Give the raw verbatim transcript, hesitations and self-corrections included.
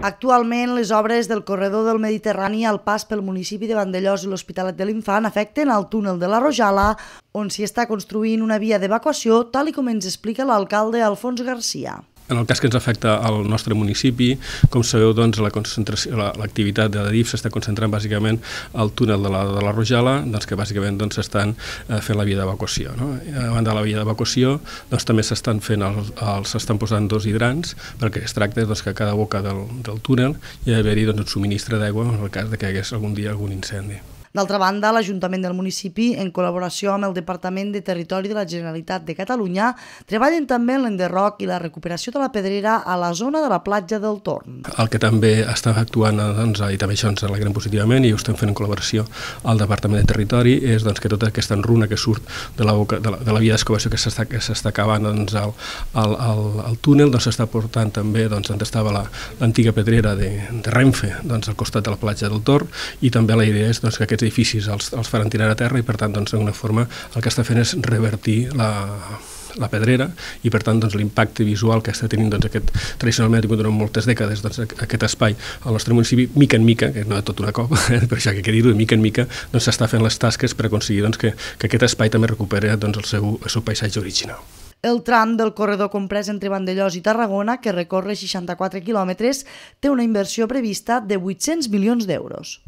Actualment, les obres del corredor del Mediterrani al pas pel municipi de Vandellòs i l'Hospitalet de l'Infant afecten el túnel de la Rojala, on s'hi està construint una via d'evacuació, tal i com ens explica l'alcalde Alfons Garcia. En el cas que ens afecta al nostre municipi, com sabeu, doncs, l'activitat la de l'A D I F s'està concentrant bàsicament al túnel de la, de la Rojala, doncs, que bàsicament doncs, estan eh, fent la via d'evacuació. No? A banda de la via d'evacuació, doncs, també s'estan fent el, el, s'estan posant dos hidrants, perquè es tracta doncs, que a cada boca del, del túnel hi ha d'haver-hi doncs, un subministre d'aigua en el cas de que hi hagués algun dia algun incendi. D'altra banda, l'Ajuntament del municipi, en col·laboració amb el Departament de Territori de la Generalitat de Catalunya, treballen també en l'enderroc i la recuperació de la pedrera a la zona de la platja del Torn. El que també està actuant, doncs, i també això ens alegrem positivament, i ho estem fent en col·laboració al Departament de Territori, és doncs, que tota aquesta enruna que surt de la, boca, de la, de la via d'excavació que s'està acabant doncs, al, al, al, al túnel, doncs, s'està portant també doncs, on estava l'antiga pedrera de, de Renfe, doncs, al costat de la platja del Torn, i també la idea és doncs, que aquests edificis els, els faran tirar a terra i per tant doncs, d'alguna forma el que està fent és revertir la, la pedrera i per tant doncs, l'impacte visual que està tenint doncs, aquest, tradicionalment ha tingut durant moltes dècades doncs, aquest espai al nostre municipi, mica en mica, que no és tot una cop, eh, per això que quedi dir, mica en mica doncs, s'està fent les tasques per aconseguir doncs, que, que aquest espai també recuperi doncs, el, seu, el seu paisatge original. El tram del corredor comprès entre Vandellòs i Tarragona, que recorre seixanta-quatre quilòmetres, té una inversió prevista de vuit-cents milions d'euros.